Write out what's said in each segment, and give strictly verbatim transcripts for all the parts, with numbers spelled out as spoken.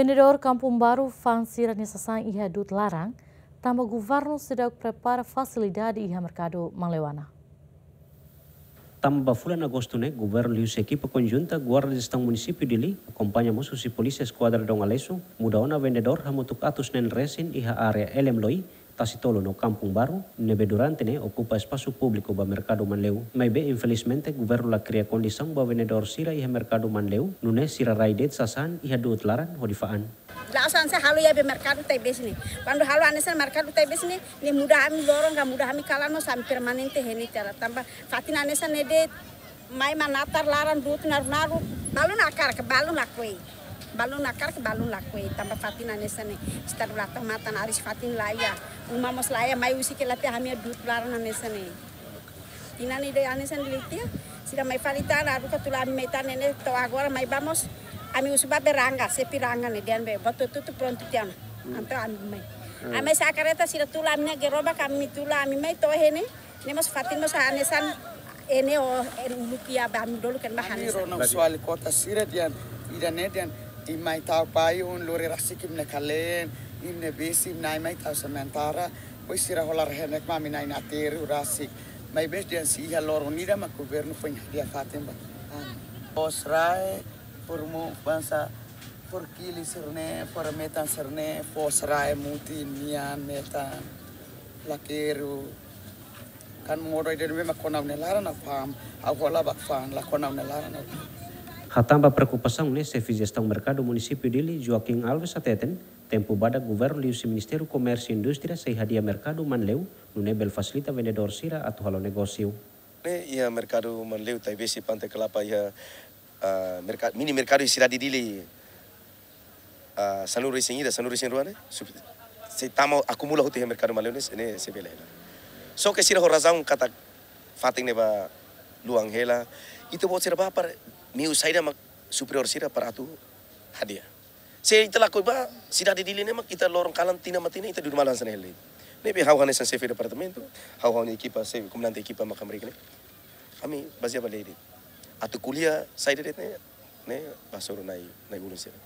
Vendedór Kampung Baru fa'an sira-nia sasán iha du'ut laran, tanba governu seidauk prepara fasilidade iha merkadu Manleuana. Tanba ba fulan Agostu ne'e, governu liuhusi ekipa konjunta Guarda Jestaun Munisípiu Dili, akompaña mós husi Polísia Eskuadra Dom Aleixo, muda ona vendedór hamutuk atus neen resin iha área Elem Loi, Tasi Tolu no Kampung Baru, ne'ebé durante ne'e okupa espasu públiku ba merkadu Manleu. Maibé infelizmente governu la kria kondisaun ba vendedór sira iha merkadu Manleu, nune'e sira rai de'it sasán iha du'ut laran hodi fa'an. La'ós hanesan halo iha be merkadu Taibesi ne'e. Kuandu halo hanesan merkadu Taibesi ne'e, ne'e muda ami loron ka muda ami kalan mós ami permanente iha ne'e tiha ona. Tanba fatin hanesan ne'e de'it mai mak natar laran du'ut naruk-naruk, balun hakarak, balun lakohi. Balun hakarak, balun lakohi. Tanba fatin hanesan ne'e, estadu la tau matan, aris fatin laiha. Uma mós laiha, mai husik hela tiha ami du'ut laran hanesan ne'e. Tinan ida hanesan ne'e liu tiha, sira mai fali tan, haruka tula ami mai tan ne'e, to'o agora mai ba mós, ami husu ba be Rangga, xefe Rangga ne'e, dehan be, buat hotu-hotu prontu tiha ona. Entaun ami mai. Ami sa'e karreta sira tula ami-nia gerobak, ami tula ami mai to'o iha ne'e, ne'e mós fatin mós hanesan ne'e, o, ne'e uluk iha ba ami dolok ne'e ba hanesan. Rona husu alin kota sira dehan, ida-ne'e dehan, imi mai tau payung, lori rasik imi-nia kaleen, imi-nia besi, imi-nia ai mai tau sementara, depois sira hola rehenek mak ami na'in aterru rasik. Maibé dehan sei iha loron ida mak governu foin hadi'a fatin ba. Foos rai, fó ruma, bansa, fó kili sira-ne'e, fó remetan sira-ne'e, foos rai, mutin, nian, metan, lakeru. Kan modo ida-ne'ebé mak kona ha'u-nia laran ha'u fa'an, ha'u hola bá fa'an, la kona ha'u-nia laran ha'u fa'an. Hatán ba preokupasaun ne'e, xefe jestaun merkadu Munisípiu Dili, Joaquim Alves hateten, tempu badak governu liuhusi Ministériu Komérsiu Indústria sei hadi'a merkadu Manleu, nune'e bele fasilita vendedór sira atu halo negósiu. Ne'e iha merkadu Manleu, Taibesi, Pante Kelapa iha, ah, merka-, mini merkadu iha sidade Dili, ah, sanulu-resin-ida, sanulu-resin-rua ne'e, sub-, sei tama akumula hotu iha merkadu Manleu ne'e, ne'e sei bele hela. Só ke sira ho razaun katak fatin ne'e ba luan hela, ita-boot sira bá para meiu saida mak superiór sira para atu hadi'a. Se ita lakohi ba sidade Dili ne'e mak ita loron kalan tinan ba tinan ita dudu malu hanesan ne'e hela. Ne'ebé ha'u hanesan xefe departamentu, ha'u ha'u-nia ekipa, xefe komandante ekipa mak hamriik ne'e. Ami bazeia ba lei de'it. Atu ko'alia saida de'it ne'e, ne'e ba hasoru na'i, na'i-ulun sira.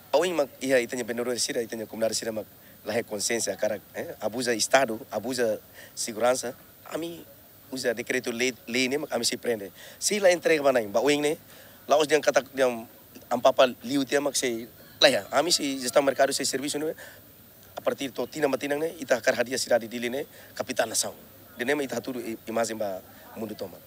Ba oin mak iha ita-nia vendedór sira, ita-nia komunidade sira mak la iha konxiénsia hakarak, eh, abuza estadu, abuza seguransa. Ami uza dekretu lei, lei ne'e mak ami sei prende. Sei la entrega ba na'in, ba oin ne'e, la'ós dehan katak dehan Amu Papa liu tiha mak sei, la iha. Ami sei jestaun merkadu sei servisu ne'e, a partir to'o tinan ba tinan ne'e, ita hakarak hadi'a sidade Dili ne'e, kapitál nasaun. Ida-ne'e mak ita hatudu i-, imajen ba mundu tomak.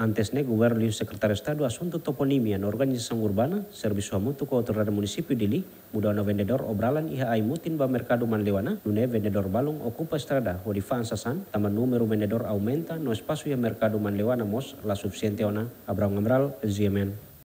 Antes ne'e, governu liuhusi Sekretáriu Estadu Asuntu Toponímia no Organizasaun Urbana, servisu hamutuk ho Autoridade Munisípiu Dili, muda ona vendedór obralan iha Ai-Mutin ba merkadu Manleuana, nune'e vendedór balun okupa estrada hodi fa'an sasán, tanba númeru vendedór aumenta no espasu iha merkadu Manleuana mós la sufisiente ona. Abrão Amaral, G M N.